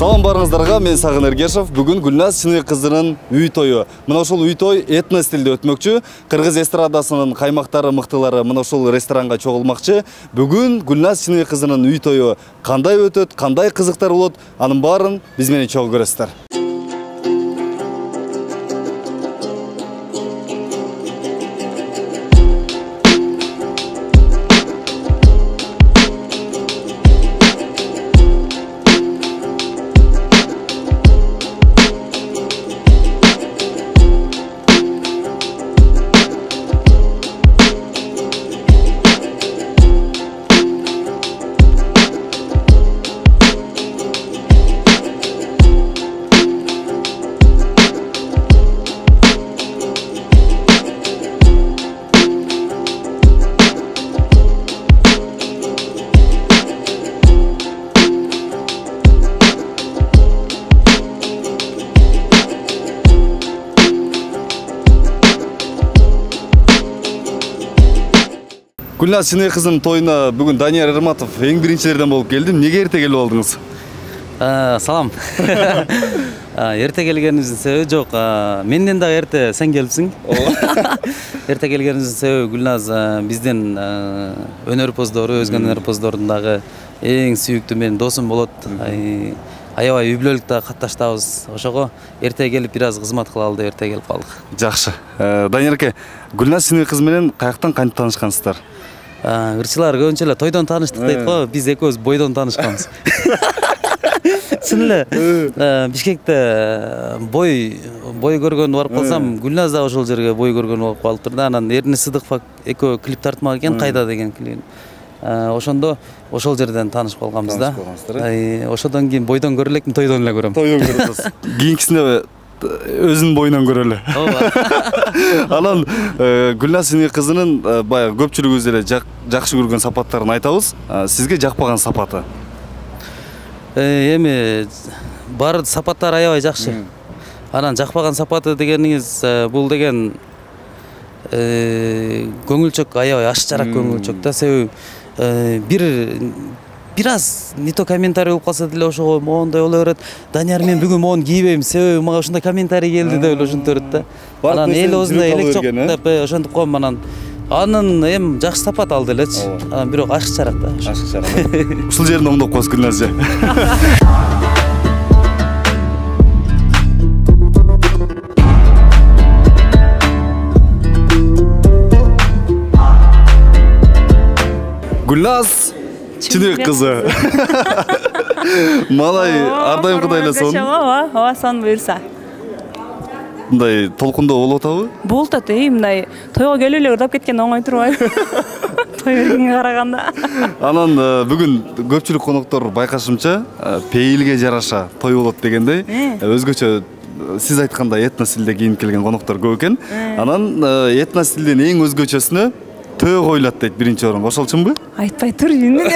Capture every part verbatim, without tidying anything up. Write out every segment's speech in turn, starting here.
Салам барыңыздарга, мен Сагын Эргешев. Бүгүн Гүлназ Чыныгы кызынын үй тою. Мына ошол үй той этно стилде өтмөкчү. Кыргыз эстрадасынын каймактары, мыктылары мына ошол ресторанга чогулмакчы. Бүгүн Гүлназ Чыныгы кызынын үй тою кандай өтөт, кандай кызыктар болот, анын баарын биз менен чогуу көрөсүздөр. Гүлназ Чыныгы кызынын тоюна бүгүн Данияр Эрматов эң биринчилерден болуп келдим. Неге эрте келип алдыңыз? Салам. Эрте келгенибиздин себеби жок. Менден дагы эрте сен келипсиң. Эрте келгенибиздин себеби Гүлназ биздин өнөр поздору, өзгө өнөр поздордун дагы эң сүйүктүү менин досум болот. Аябай үй бүлөлүктө катташтабыз. Ошого эрте келип бир аз кызмат кылалы деп эрте келип калдык. Жакшы. Данияр аке, Гүлназ Чыныгы кызы менен каяктан кантип таанышкансыздар? Ырчылар көбүнчө эле тойдон тааныштык дейт го, биз экөөбүз бойдон таанышканбыз. Чын эле Бишкекте бой бой көргөнү барып калсам, Гүлназ да ошол жерге бой көргөнү болуп калыптыр да. Анан Эрни Сыдыков экөө клип тартмак экен, кайда деген клип. Ошондо ошол жерден таанышып калганбыз да. Ошодон кийин бойдон көрө элекмин, тойдон эле көрөм. Тойдон көрөсүз. Кийинкисинде өзүнүн боюнан көрө эле. Анан Гүлназ Чыныгы кызынын баягы көпчүлүгүбүз эле жакшы көргөн сапаттарын айтабыз. Сизге жакпаган сапаты? Эми бар сапаттар аябай жакшы. Анан жакпаган сапаты дегениңиз бул деген көңүлчөк, аябай аш жарак көңүлчөк да. Себеби бир бир аз не то комментарий болуп калса деле ошого моундай боло берет. Данияр, мен бүгүн моуну кийбейм, себеби мага ушундай комментарий келди деп эле ушинте берет да. Анан эл өзүнө элек жок деп ошентип коем. Анан анын эми жакшы сапат алды элечи. Анан бирок ашык жарак да. Ашык жарак. Ушул жерин оңдоп коесуз Гүлназ же. Гүлназ Чыныгы кызы. Малай ар дайым кудай эле сон. Ооба, сон буйрса. Мындай толкундоо болуп атабы? Болуп атат, мындай тойго келип эле ырдап кеткен оңой турбайбы? Той бергенге караганда. Анан бүгүн көпчүлүк коноктор байкашымча пейилге жараша той болот дегендей, өзгөчө сиз айткандай этно стилде кийинип келген коноктор көп экен. Анан этно стилдин эң өзгөчөсүнө төө коюлат дейт биринчи орунга. Ошол чынбы? Айтпай тур эми.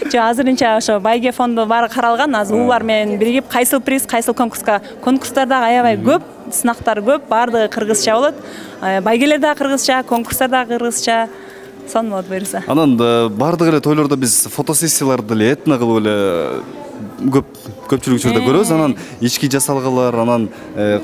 Жок, азырынча ошо байге фонду баары каралган. Азыр улар менен биригип кайсыл приз, кайсыл конкурска. Конкурстар дагы аябай көп, сынактар көп, баардыгы кыргызча болот. Байгелер дагы кыргызча, конкурстар дагы кыргызча. Сон болот буюрса. Анан баардык эле тойлордо биз фотосессияларды эле этно кылып эле көп көпчүлүк учурда көрөбүз. Анан ички жасалгалар, анан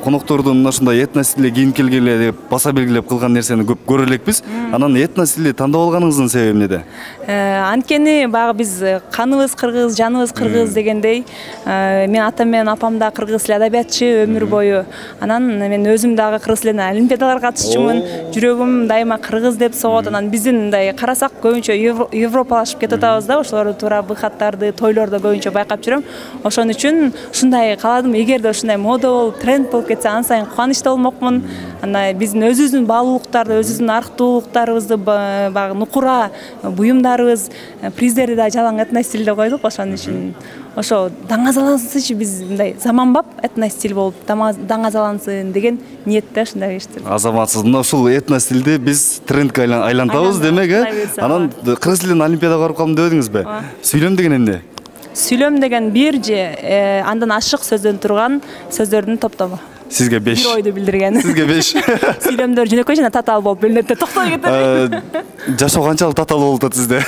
коноктордун мына ушундай этно стилде кийинип келгиле деп баса белгилеп кылган нерсени көп көрө элекпиз. Анан этно стилди тандап алганыңыздын себеби эмнеде? Анткени багы биз каныбыз кыргыз, жаныбыз кыргыз дегендей, мен атам менен апам да кыргыз тил адабиятчы өмүр бою. Анан мен өзүм дагы кыргыз тилинен олимпиадаларга катышчумун. Жүрөгүм дайыма кыргыз деп согот. Анан биздин мындай карасак көбүнчө европалашып кетип атабыз да. Ошолорду туура быхаттарды тойлордо көбүнчө байкап жүрөм. Ошон үчүн ушундай кааладым. Эгерде ушундай мода болуп, тренд болуп кетсе, ан сайын кубанычта болмокмун. Анда биздин өзүбүздүн баалуулуктарды, өзүбүздүн арктуулуктарыбызды багы нукура буюмдарыбыз, приздерди да жалаң этно стилде койдук. Ошон үчүн ошо даңазалансынчы, биз мындай заманбап этно стиль болуп даңазалансын деген ниетте ушундай иштер. Азаматсыз. Мына ушул этно стилди биз трендке айлантабыз демек, э? Анан кыргыз тилинен олимпиадага барып калдым деп едиңизби? Сүйлөм деген эмне? Сүйлөм деген бир же андан ашык сөздөн турган сөздөрдүн топтому. Сизге беш. Бир ойду билдирген. Сизге беш. Сүйлөмдөр жөнөкөй жана татаал болуп бөлүнөт деп токтой кетет. Жашоо канчалык татаал болуп атат сизде?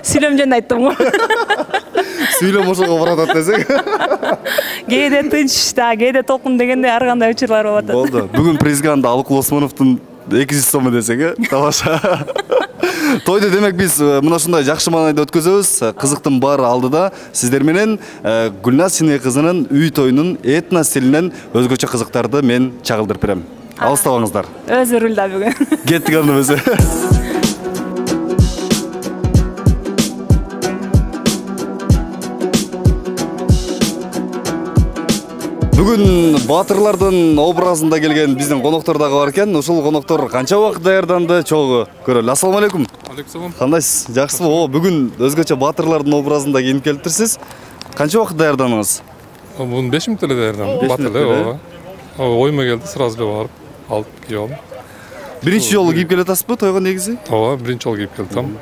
Сүйлөм жөнүндө айттым го. сүйлөм ошого баратат десең. Кээде тынч да, кээде толкун дегендей ар кандай учурлар болуп атат. Болду. Бүгүн президент Алыкул Осмоновдун эки жүз сому десең, э? Тамаша. Тойду демек биз мына ушундай жакшы маанайда өткөзөбүз. Кызыктын баары алдыда сиздер менен Гүлназ Синой кызынын үй тоюнун этно стилинен өзгөчө кызыктарды мен чагылдырып берем. Алыстабаңыздар. Өзү рулда бүгүн. Кеттик анда өзү. Бүгүн баатырлардын образында келген биздин коноктор дагы бар экен. Ушул коноктор канча убакыт даярданды? Чогуу көрөлү. Ассалам алейкум. Алейкум. Кандайсыз? Жакшысызбы? О, бүгүн өзгөчө баатырлардын образында кийинип келиптирсиз. Канча убакыт даярдандыңыз? Бун беш мүнөттө эле даярдандым. Батыр эле, ооба. Оймо келди, сразу эле барып, алып кийип алдым. Биринчи жолу кийип келатасызбы тойго негизи? Ооба, биринчи жолу кийип келдим.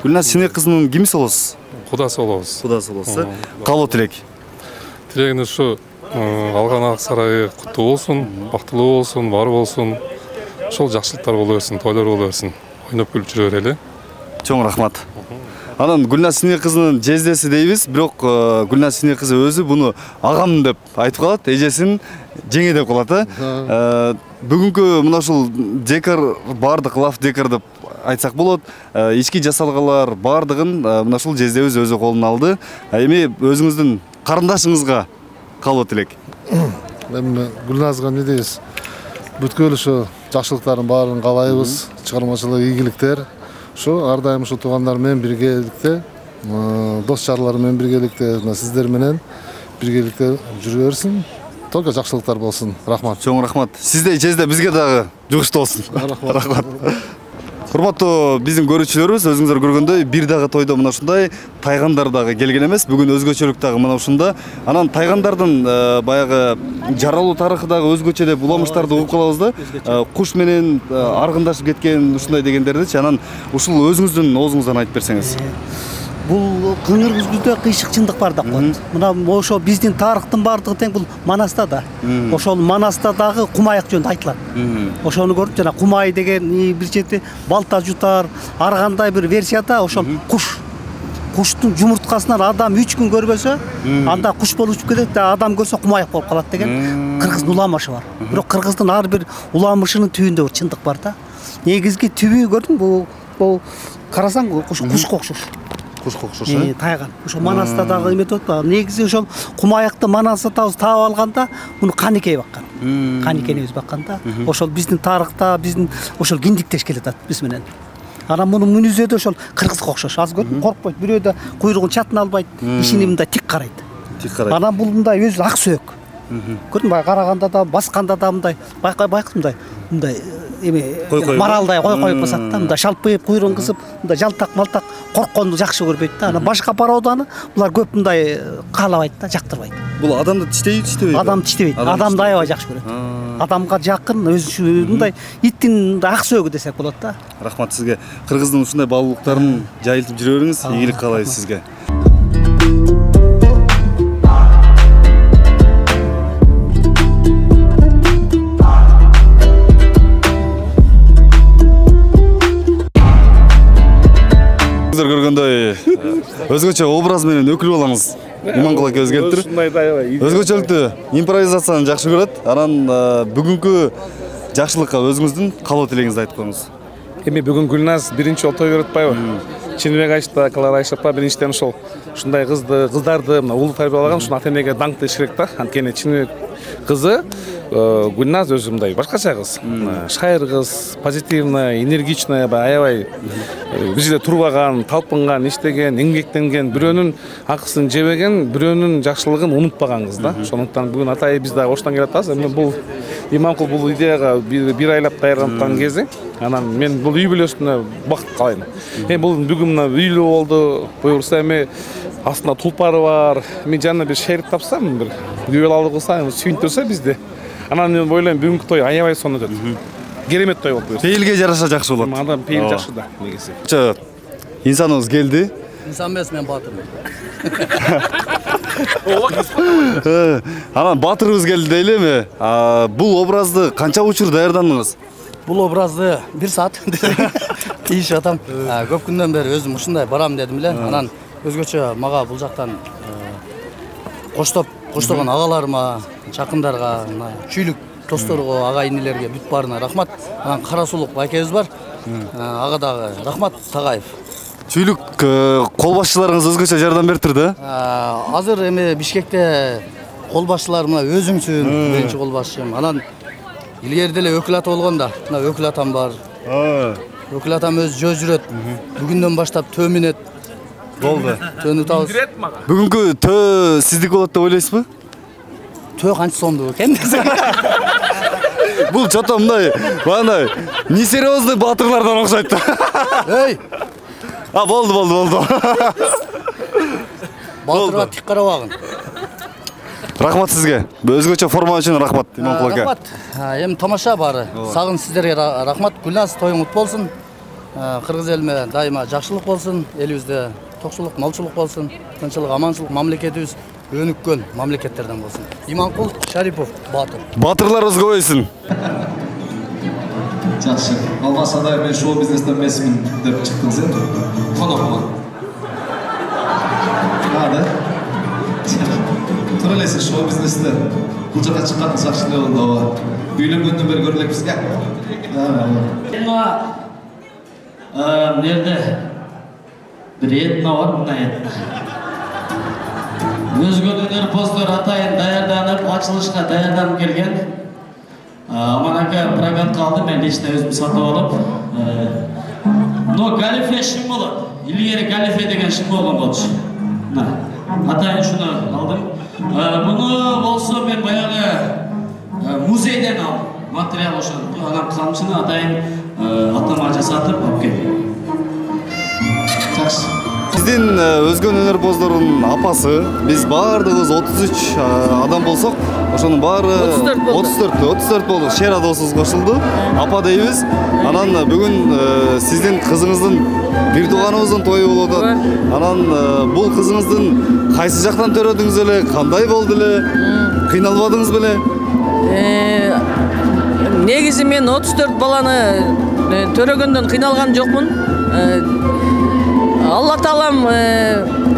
Гүлназ Синой кызынын кимиси болосуз? Кудасы болобуз. Кудасы болосуз. Калоо тилек. Тилегине ушу алган ак сарайы куттуу болсун, бактылуу болсун, бар болсун. Ошол жакшылыктар боло берсин, тойлор боло берсин. Ойноп күлүп жүрө берели. Чоң рахмат. Анан Гүлназ Синой кызынын жездеси дейбиз, бирок Гүлназ Синой кызы өзү буну агам деп айтып калат, эжесин жеңе деп калат, э. Бүгүнкү мына ушул декор бардык лав декор деп айтсак болот. Ички жасалгалар бардыгын мына ушул жездебиз өзү колуна алды. Эми өзүңүздүн карындашыңызга калоо тилек. Эми Гүлназга эмне дейбиз? Бүткүл ушу жакшылыктардын баарын каалайбыз, чыгармачылык ийгиликтер. Ушу ар дайым ушу туугандар менен биргеликте, дос чарлар менен биргеликте, сиздер менен биргеликте жүрө берсин. Только жакшылыктар болсун. Рахмат. Чоң рахмат. Сизде жезде бизге дагы жугуштуу болсун. Рахмат. Урматтуу биздин көрүүчүлөрүбүз, өзүңүздөр көргөндөй бир дагы тойдо мына ушундай тайгандар дагы келген эмес. Бүгүн өзгөчөлүк дагы мына ушунда. Анан тайгандардын баягы жаралуу тарыхы дагы өзгөчө деп уламыштарды угуп калабыз да. Куш менен аргындашып кеткен ушундай дегендердичи. Анан ушул өзүңүздүн оозуңуздан айтып берсеңиз. Бул кыңыр күзгүдө кыйшык чындык бар да коет. Мына ошо биздин тарыхтын бардыгы тең бул Манаста да. Ошол Манаста дагы кумаяк жөнүндө айтылат. Ошону көрүп жана кумай деген бир чети балта жутар, ар кандай бир версияда ошол куш. Куштун жумурткасынан адам үч күн көрбөсө, анда куш болуп учуп кетет да, адам көрсө кумаяк болуп калат деген кыргыздын уламышы бар. Бирок кыргыздын ар бир уламышынын түбүндө бир чындык бар да. Негизги түбү көрдүңбү? Бул карасаң кушка окшош. Кушка окшош, э? Тайган. Ошо Манаста дагы эметип атпайбы? Негизи ошол кумаякты Манас атабыз таап алганда, муну Каникей баккан. Каникенибиз баккан да. Ошол биздин тарыхта, биздин ошол киндиктеш келатат биз менен. Анан мунун мүнүзү да ошол кыргызга окшош. Аз көрдүм, коркпойт. Бирөө да куйругун чатына албайт, ишини мындай тик карайт. Тик карайт. Анан бул мындай өзү ак сөөк. Көрдүм, бай караганда да, басканда да мындай, байкай байкадым мындай, мындай эми маралдай кой коюп басат да, мындай шалпайып, куйругун кысып, мындай жалтак малтак коркконду жакшы көрбөйт да. Анан башка пароданы булар көп мындай каалабайт да, жактырбайт. Бул адамды тиштейби, тиштебейби? Адам тиштебейт. Адамды аябай жакшы көрөт. Адамга жакын, өзү мындай иттин ак сөөгү десек болот да. Рахмат сизге. Кыргыздын ушундай баалуулуктарын жайылтып жүрө бериңиз. Ийгилик каалайбыз сизге. Көргөндөй өзгөчө образ менен өкүл болаңыз. Иманкул ака өзгөртүр. Өзгөчөлүктү импровизацияны жакшы көрөт. Анан бүгүнкү жакшылыкка өзүңүздүн калоо тилегиңизди айтып коюңуз. Эми бүгүн Гүлназ биринчи жолу той көрүп атпайбы? Чыныбек Айшта, Клара Айшапа биринчиден ошол ушундай кызды, кыздарды мына улуу тарбиялаган ушул ата-энеге даңктыш керек да. Анткени Чыныбек кызы Гүлназ өзү мындай башкача кыз. Шайыр кыз, позитивная, энергичная, аябай бир жерде турбаган, талпынган, иштеген, эмгектенген, бирөөнүн акысын жебеген, бирөөнүн жакшылыгын унутпаган кыз да. Ошондуктан бүгүн атай биз дагы оштон келип атабыз. Эми бул Иманкул бул идеяга бир айлап даярданткан кези. Анан мен бул үй бүлөсүнө бакыт каалайм. Эми бул бүгүн мына үйлүү болду. Буюрса эми астында тулпары бар. Мен жанына бир шерик тапсам, бир күбөл алып кылса, сүйүндүрсө бизди. Анан мен ойлойм бүгүнкү той аябай сонун өтөт. Керемет той болуп кетет. Пейилге жараша жакшы болот. Адам пейил жакшы да негизи. Чо, инсаныбыз келди. Инсан эмес, мен баатырмын. Анан баатырыбыз келди дейли эми. Бул образды канча учур даярдандыңыз? Бул образды бир саат тийишип атам. Көп күндөн бери өзүм ушундай барам дедим эле. Анан өзгөчө мага бул жактан коштоп коштогон агаларыма, жакындарга, мына чүйлүк досторго, ага инилерге бүт баарына рахмат. Анан Карасулук байкебиз бар. Ага дагы рахмат Тагаев. Чүйлүк кол башчыларыңыз өзгөчө жардам бериптир да? Азыр эми Бишкекте кол башчылар мына өзүңсүн, биринчи кол башчым. Анан илгери деле өкүл ата болгондо, мына өкүл атам бар. Өкүл атам өзү жөө жүрөт. Бүгүндөн баштап төө минет. Болду. Төнү табыз. Бүгүнкү төө сиздики болот деп ойлойсузбу? Төө канча сомдуу экен? Бул чото мындай, мындай несерьезный батырлардан окшойт. Эй! А, болду, болду, болду. Батырга тик карабагын. Рахмат сизге. Өзгөчө форма үчүн рахмат, Иманкул ака. Рахмат. Эми тамаша баары. Сагын сиздерге рахмат. Гүлназ тоюң кут болсун. Кыргыз элиме дайыма жакшылык болсун. Элибизде токчулук, малчылык болсун. Тынччылык, аманчылык, мамлекетибиз өнүккөн мамлекеттерден болсун. Иманкул Шарипов батыр. Батырларыбыз көбөйсүн. Жакшы. Албасада мен шоу бизнестен эмесмин деп чыктым сен. Конокмун. Ада. Тура эле шоу бизнесте бул жака чыккан жакшы эле болду. Үйлөнгөндөн бери көрө элекпиз. А, нерде? Bir etna var, buna etna. Özgün Önер Поздор атайын даярданып, ачылышка даярданып келген. Аман ака прокатка алды, мен лично өзүм сатып алып. Но галифе шим болот. Илгери галифе деген шим болгон болчу. Атайын шуну алдым. Муну болсо мен баягы музейден алдым. Материал ошону. Анан камчыны атайын атама жасатып алып келдим. Биздин Өзгөн Өнөр Поздордун апасы, биз баардыгыбыз отуз үч адам болсок, ошонун баары отуз төрт отуз төрт болдук. Шер досубуз кошулду. Апа дейбиз. Анан бүгүн сиздин кызыңыздын бир тууганыбыздын тою болуп атат. Анан бул кызыңыздын кайсы жактан төрөдүңүз эле, кандай болду эле? Кыйналбадыңыз беле? Негизи мен отуз төрт баланы төрөгөндөн кыйналган жокмун. Алла Таалам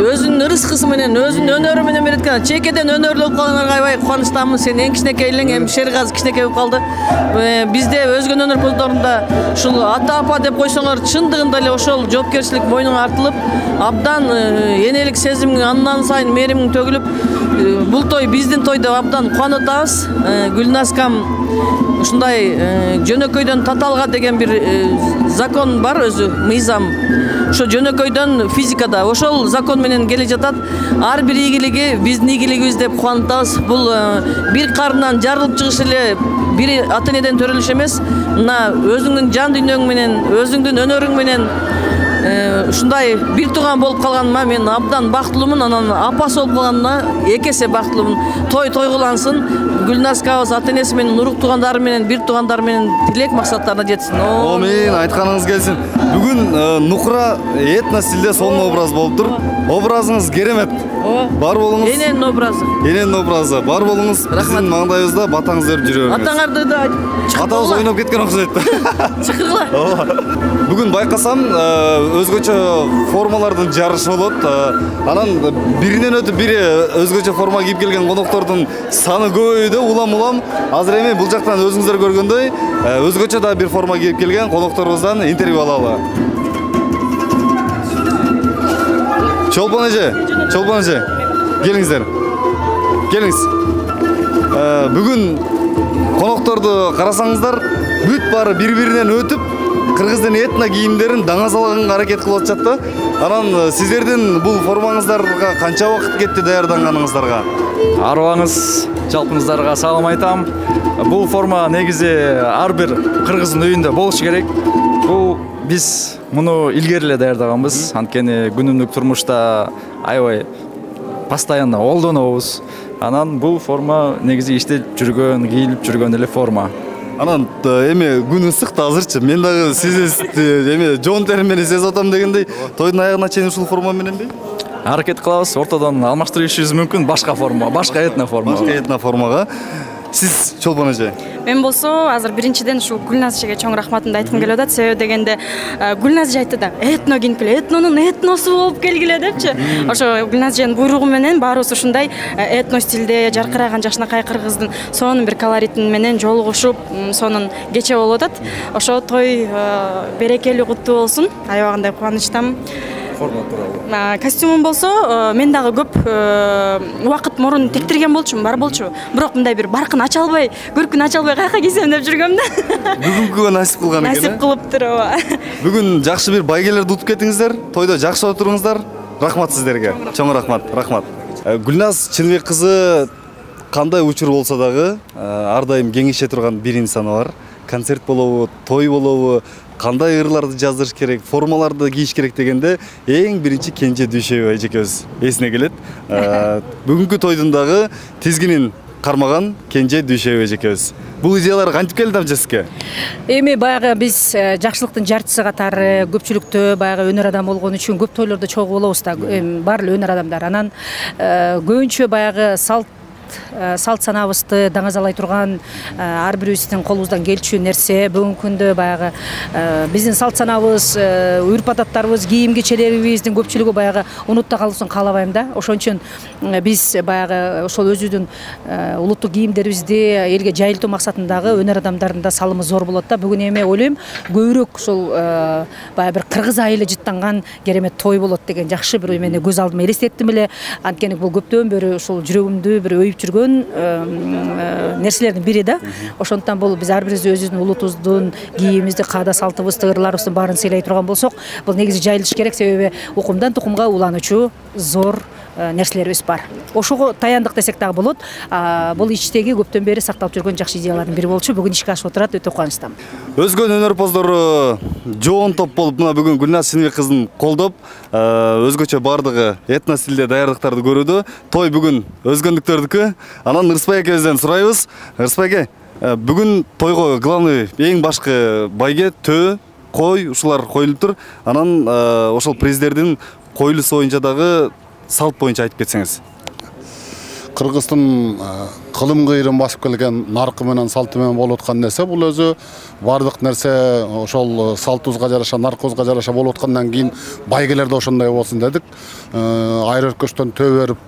өзүнүн рызкысы менен, өзүнүн өнөрү менен береткен. Чекеден өнөрлүү болуп калгандарга аябай кубанычтамын. Сен эң кичинекей элең, эми Шергази кичинекей болуп калды. Бизде Өзгөн Өнөр Поздорунда ушул ата-апа деп койсоңор, чындыгында эле ошол жоопкерчилик мойнуңа артылып, абдан энелик сезим андан сайын меримиң төгүлүп, бул той биздин той деп абдан кубанып атабыз. Гүлназкам ушундай жөнөкөйдөн таталга деген бир закон бар өзү, мыйзам. Ошо жөнөкөйдөн физикада ошол закон менен келе жатат. Ар бир ийгилиги биздин ийгилигибиз деп кубанып атабыз. Бул бир карындан жарылып чыгыш эле бир ата-энеден төрөлүш эмес. Мына өзүңдүн жан дүйнөң менен, өзүңдүн өнөрүң менен ушундай бир тууган болуп калганыма мен абдан бактылуумун. Анан апасы болуп калганыма эки эсе бактылуумун. Той тойгулансын. Гүлназкабыз ата-энеси менен, урук туугандары менен, бир туугандары менен тилек максаттарына жетсин. Амин, айтканыңыз келсин. Бүгүн Нукра этно стилде сонун образ болуптур. Образыңыз керемет. Бар болуңуз. Эненин образы. Эненин образы. Бар болуңуз. Биздин маңдайыбызда батаңызды өрүп жүрө бериңиз. Атаңарды да атабыз ойноп кеткен окшойт. Чыкыргыла. Бүгүн байкасам өзгөчө формалардын жарышы болот. Анан биринен өтүп бири өзгөчө форма кийип келген коноктордун саны көбөйдү. Улам-улам азыр эми бул жактан өзүңүздөр көргөндөй өзгөчө да бир форма кийип келген конокторубуздан интервью алалы. Чолпон эже, Чолпон эже, келиңиздер. Келиңиз. Бүгүн конокторду карасаңыздар, бүт баары бири-биринен өтүп, кыргыздын этно кийимдерин даңазалаганга аракет кылып атышат да. Анан сиздердин бул формаңыздарга канча убакыт кетти даярданганыңыздарга? Арыбаңыз, жалпыңыздарга салам айтам. Бул форма негизи ар бир кыргыздын үйүндө болушу керек. Бул биз муну илгери эле даярдаганбыз. Анткени күнүмдүк турмушта аябай постоянно колдонобуз. Анан бул форма негизи иштеп жүргөн, кийилип жүргөн эле форма. Анан эми күн ысык да азырчы. Мен дагы сиз эми жон терим менен сезип атам дегендей, тойдун аягына чейин ушул форма мененби? Аракет кылабыз, ортодон алмаштырып ишибиз мүмкүн башка форма, башка этно форма. Башка этно формага. Сиз Чолпон эже? Мен болсо азыр биринчиден ушул Гүлназ эжеге чоң рахматымды айткым келип атат. Себеби дегенде Гүлназ эже айтты да, этно кийинип келе, этнонун этносу болуп келгиле депчи. Ошо Гүлназ эженин буйругу менен баарыбыз ушундай этно стилде жаркыраган жакшынакай кыргыздын сонун бир колоритин менен жолугушуп, сонун кече болуп атат. Ошо той берекелүү куттуу болсун. Аябагандай кубанычтамын. Форма тууралуу. Костюмум болсо, мен дагы көп убакыт мурун тектирген болчумун, бар болчу. Бирок мындай бир баркын ача албай, көркүн ача албай каяка кийсем деп жүргөм да. Бүгүнкүгө насип кылган экен. Насип кылыптыр, ооба. Бүгүн жакшы бир байгелерди утуп кеттиңиздер. Тойдо жакшы отуруңуздар. Рахмат сиздерге. Чоң рахмат, рахмат. Гүлназ Чыныбек кызы кандай учур болсо дагы ар дайым кеңеше турган бир инсаны бар. Концерт болобу, той болобу, кандай ырларды жаздырыш керек, формаларды кийиш керек дегенде эң биринчи Кенже Дүйшөбай эжекебиз эсине келет. Бүгүнкү тойдун дагы тизгинин кармаган Кенже Дүйшөбай эжекебиз. Бул идеялар кантип келди амча сизге? Эми баягы биз жакшылыктын жарчысы катары көпчүлүктө баягы өнөр адамы болгон үчүн көп тойлордо чогуу болобуз да. Бар эле өнөр адамдар. Анан көбүнчө баягы салт салт санабызды даңазалай турган ар бирибиздин колубуздан келчү нерсе бүгүнкү күндө баягы биздин салт санабыз, үрп адаттарыбыз, кийим кечелерибиздин көпчүлүгү баягы унутта калсын каалабайм да. Ошон үчүн биз баягы ошол өзүбүздүн улуттук кийимдерибизди элге жайылтуу максатындагы өнөр адамдардын да салымы зор болот да. Бүгүн эми ойлойм көбүрөөк ошол баягы бир кыргыз айылы жыттанган керемет той болот деген жакшы бир эмени көз алдыма элестеттим эле. Анткени бул көптөн бери ошол жүрөгүмдү бир өйүп жүргөн нерселердин бири да. Ошондуктан бул биз ар бирибиз өзүбүздүн улутубуздун кийимибизди, каада салтыбызды, ырларыбыздын баарын сыйлай турган болсок, бул негизи жайылыш керек. Себеби укумдан тукумга улануучу зор нерселерибиз бар. Ошого таяндык десек дагы болот. Бул ичтеги көптөн бери сакталып жүргөн жакшы идеялардын бири болчу. Бүгүн ишке ашып отурат, өтө кубанычтамын. Өзгөн өнөрпоздору жоон топ болуп мына бүгүн Гүлназ Чыныбек кызын колдоп, өзгөчө бардыгы этно стилде даярдыктарды көрүүдө. Той бүгүн өзгөндүктөрдүкү. Анан Ырысбай экебизден сурайбыз. Ырысбай эке, бүгүн тойго главный эң башкы байге төө, кой ушулар коюлуптур. Анан ошол президердин коюлуусу боюнча дагы салт боюнча айтып кетсеңиз. Кыргыздын кылым кыйрын басып келген наркы менен салты менен болуп аткан нерсе бул өзү бардык нерсе ошол салтыбызга жараша, наркыбызга жараша болуп аткандан кийин байгелер да ошондой болсун дедик. Айыр өркөчтөн төө берип,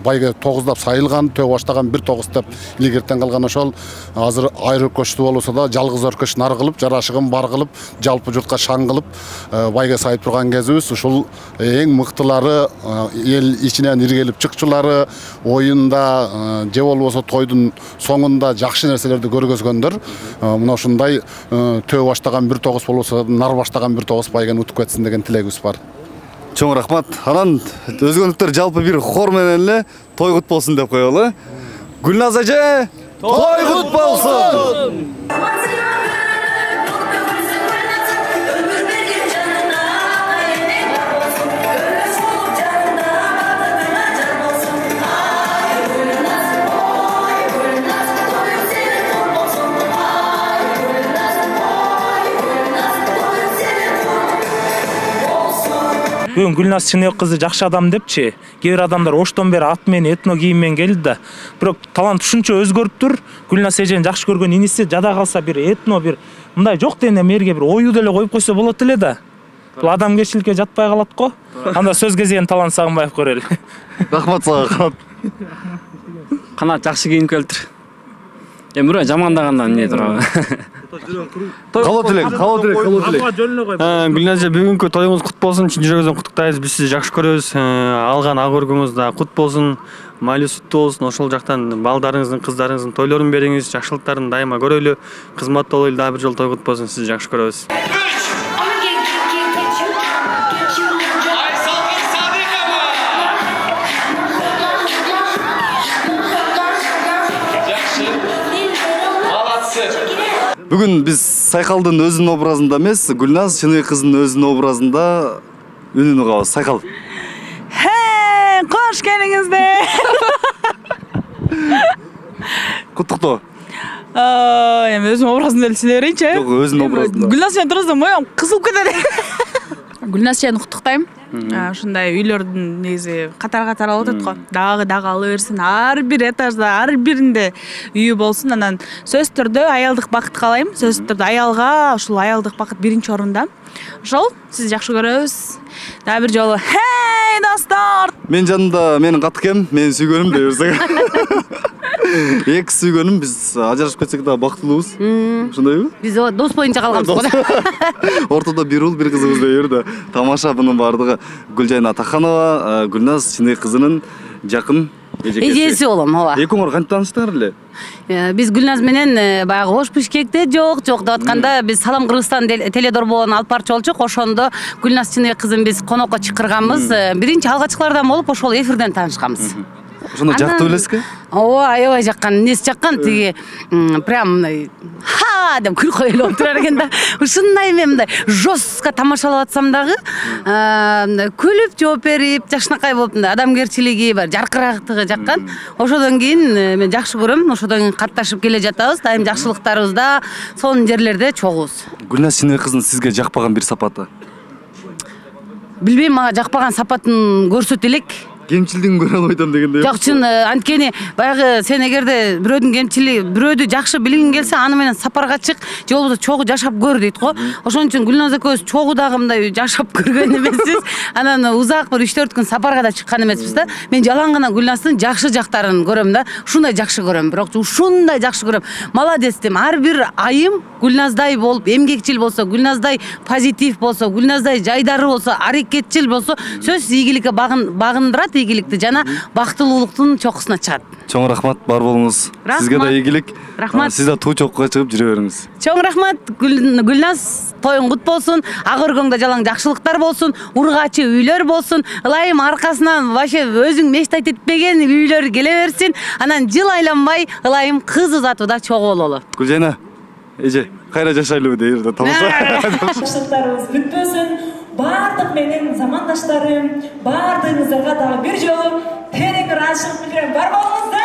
байге тогуздап сайылган, төө баштаган бир тогуз деп илгертен калган ошол азыр айыр өркөчтүү болсо да жалгыз өркөч нар кылып, жарашыгын бар кылып, жалпы журтка шаң кылып байге сайып турган кезибиз. Ушул эң мыктылары, эл ичинен иргелип чыкчулары, оюнда же болбосо тойдун соңунда жакшы нерселерди көргөзгөндөр. Мына ушундай төө баштаган бир тогуз болсо, нар баштаган бир тогуз байгени утуп кетсин деген тилегибиз бар. Чоң рахмат. Анан өзгөнүктөр жалпы бир хор менен эле той кут болсун деп коелу. Гүлназ эже, той кут болсун. Бүгүн Гүлназ Чыныбек кызы жакшы адам депчи. Кээ бир адамдар оштон бери ат менен, этно кийим менен келди да. Бирок талант ушунча өзгөрүптүр. Гүлназ эженин жакшы көргөн иниси жада калса бир этно бир мындай жок дегенде мерге бир оюу деле коюп койсо болот эле да. Бул адамгерчиликке жатпай калат го. Анда сөз кезеген Талант Сагынбаев көрөлү. Рахмат сага. Канат жакшы кийинип келиптир. Эми бирөө жамандагандан эмне турабы? Калоо тилек, калоо тилек, калоо тилек. Гүлназ эже, бүгүнкү тоюңуз кут болсун. Чын жүрөгүбүздөн куттуктайбыз. Биз сизди жакшы көрөбүз. Алган ак өргүңүз да кут болсун. Майлуу сүттүү болсун. Ошол жактан балдарыңыздын, кыздарыңыздын тойлорун бериңиз, жакшылыктарын дайыма көрөлү. Кызматта болойлу, дагы бир жолу той кут болсун. Сизди жакшы көрөбүз. Бүгүн биз Сайкалдын өзүнүн образында эмес, Гүлназ Чыныбек кызынын өзүнүн образында үнүн угабыз. Сайкал. Хей, кош келиңиздер. Куттуктоо. Эми өзүнүн образында эле сүйлөй берейинчи. Жок, өзүнүн образында. Гүлназ эжени турсам моюм кызылып кетет. Гүлназ эжени куттуктайм. ушундай үйлөрдүн негизи катар-катар алып атат го. Дагы дагы ала берсин, ар бир этажда, ар биринде үйү болсун. Анан сөзсүз түрдө аялдык бакыт каалайм. Сөзсүз түрдө аялга ушул аялдык бакыт биринчи орунда. Ошол сизди жакшы көрөбүз. Дагы бир жолу хей достор. Мен жанымда менин катыкем, менин сүйгөнүм дей берсең. Эки сүйгөнүм, биз ажырашып кетсек дагы бактылуубуз. Ошондойбу? Биз дос боюнча калганбыз го. Ортодо бир уул, бир кызыбыз дей берди. Тамаша, бунун баардыгы Гүлжайна Атаханова, Гүлназ Чынык кызынын жакын эжекеси. Эжеси болом, ооба. Экөөңөр кантип тааныштыңар эле? Биз Гүлназ менен баягы Ош Бишкекте жок жок деп атканда биз Салам Кыргызстан теледорбоонун алып барчу болчук. Ошондо Гүлназ Чынык кызын биз конокко чакырганбыз. Биринчи алгачкылардан болуп ошол эфирден таанышканбыз. Ошондо жакты белесизби? Ооба, аябай жаккан, эмнеси жаккан, тиги прям мындай ха деп күлкү элеп турар экен да. Ушундай мен мындай жестко тамашалап атсам дагы, күлүп жооп берип, жакшынакай болуп мындай адамгерчилиги бар, жаркырактыгы жаккан. Ошодон кийин мен жакшы көрөм, ошодон кийин катташып келе жатабыз. Дайым жакшылыктарыбызда сонун жерлерде чогубуз. Гүлназ Чынык кызынын сизге жакпаган бир сапаты? Билбейм, мага жакпаган сапатын көрсөтө элек. Кемчилдигин көрө албай атам дегендей. Жок, чын анткени баягы сен эгерде бирөөдүн кемчилиги, бирөөдү жакшы билгиң келсе, аны менен сапарга чык, же болбосо чогуу жашап көр дейт го. Ошон үчүн Гүлназ экөөбүз чогуу дагы мындай жашап көргөн эмеспиз. Анан узак бир үч төрт күн сапарга да чыккан эмеспиз да. Мен жалаң гана Гүлназдын жакшы жактарын көрөм да. Ушундай жакшы көрөм, бирок ушундай жакшы көрөм. Молодец дейм. Ар бир айым Гүлназдай болуп, эмгекчил болсо, Гүлназдай позитив болсо, Гүлназдай жайдары болсо, аракетчил болсо, сөзсүз ийгиликке багындырат, ийгиликти жана бактылуулуктун чокусуна чыгат. Чоң рахмат, бар болуңуз. Сизге да ийгилик. Рахмат. Сиз да туу чокко чыгып жүрө бериңиз. Чоң рахмат. Гүлназ тоюң кут болсун, ак өргөңдө жалаң жакшылыктар болсун, ургачы үйлөр болсун. Ылайым аркасынан вообще өзүң мечтать этпеген үйлөр келе берсин. Анан жыл айланбай ылайым кыз узатууда чогуу бололу. Гүлжайна, эже, кайра жашайлыбы дейбиз. Тамаша. Жакшылыктарыбыз бүтпөсүн. Бардык менин замандаштарым, бардыгыңыздарга дагы бир жолу терең ыраазычылык билдирем. Бар болуңуздар.